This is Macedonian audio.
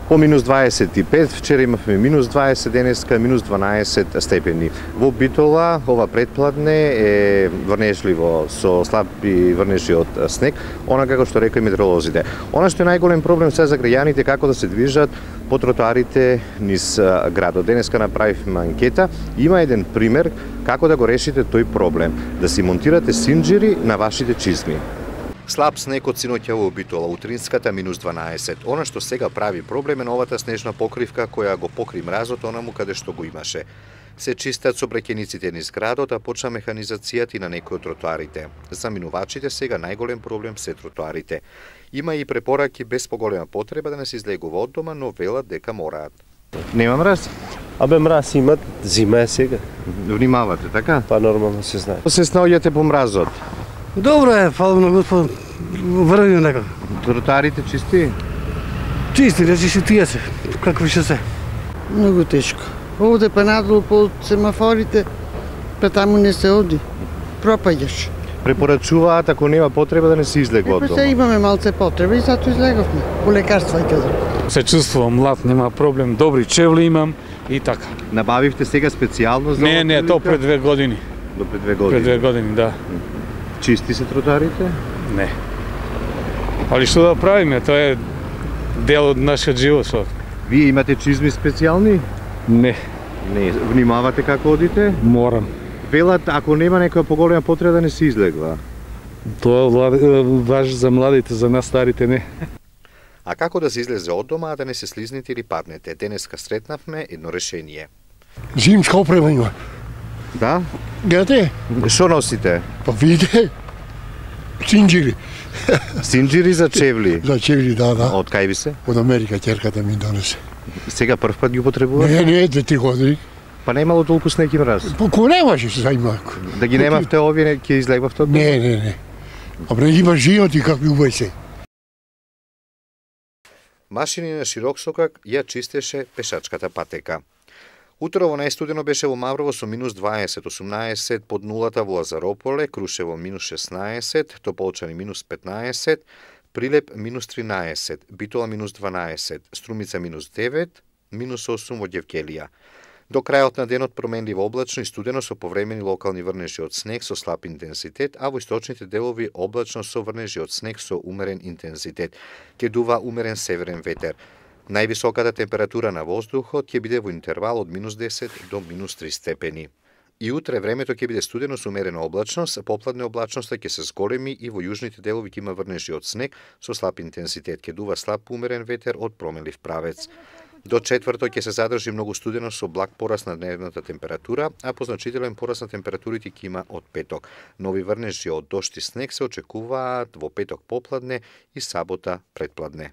По минус 25, вчера имавме минус 20, денеска минус 12 степени. Во Битола ова предпладне е врнежливо со слаби врнежи од снег, она како што рекои метеоролозите. Она што е најголем проблем се за граѓаните како да се движат по тротоарите низ градот. Денеска направивме анкета, има еден пример како да го решите тој проблем, да си монтирате синџири на вашите чизми. Слаб снег од синоќа во Битола, утринската минус 12. Она што сега прави проблем е новата снежна покривка која го покри мразот онаму каде што го имаше. Се чистат сообраќајниците низ градот, а почна механизацијата и на некои од тротоарите. За минувачите сега најголем проблем се тротоарите. Има и препораки без поголема потреба да не се излегува од дома, но велат дека мораат. Нема мраз? Абе мраз имат, зима е сега. Внимавате, така? Па нормално се знае. Се снаоѓате по мразот? Добро е, фала на Господ, врвим некако. Тротоарите чисти? Чисти, речи си тие се, како више се. Многу тешко. Овде па надолу по семафорите, па таму не се оди. Пропаѓаш. Препорачуваат ако нема потреба да не се излегува од Па дома. се имаме малце потреба и затоа излеговме. По лекарства и каде. Се чувствувам млад, нема проблем, добри чевли имам и така. Набавивте сега специјално за Не, то пред 2 години. До пред 2 години. Пред 2 години, да. Чисти се тротоарите? Не. Али што да правиме, тоа е дел од нашиот живот. Вие имате чизми специјални? Не, Не, внимавате како одите? морам. Велат ако нема некоја поголема потреба да не се излегва. Тоа важи за младите, за нас старите не. А како да се излезе од дома, а да не се слизнете или паднете? Денеска сретнавме едно решение. Зимска опрема има. Да? Гледате? Што носите? Па видите? Синџири. Синџири за чевли. За чевли, да. Од кај ви се? Од Америка ќерката ми донесе. Сега прв пат ги употребувате? Не, 2-3 години. Па немало толку снег и мраз. Па ко немаше се заима. Да ги немавте овие, ќе излегвавте од дома? Не. Абре има живот и какви убај се. Машини на широк сокак ја чистеше пешачката патека. Утро во најстудено беше во Маврово со минус 20, 18 под нулата во Лазарополе, Крушево минус 16, Тополчани минус 15, Прилеп минус 13, Битола минус 12, Струмица минус 9, минус 8 во Ѓевгелија. До крајот на денот променливо облачно и студено со повремени локални врнежи од снег со слаб интензитет, а во источните делови облачно со врнежи од снег со умерен интензитет. Ќе дува умерен северен ветер. Највисоката температура на воздухот ќе биде во интервал од минус 10 до минус 3 степени. И утре времето ќе биде студено со умерена облачност, попладне облачноста ќе се зголеми и во јужните делови ќе има врнежи од снег со слаб интензитет, ќе дува слаб умерен ветер од променлив правец. До четврток ќе се задржи многу студено со благ пораст на дневната температура, а позначителен пораст на температурите ќе има од петок. Нови врнежи од дожд и снег се очекуваат во петок попладне и сабота предпладне.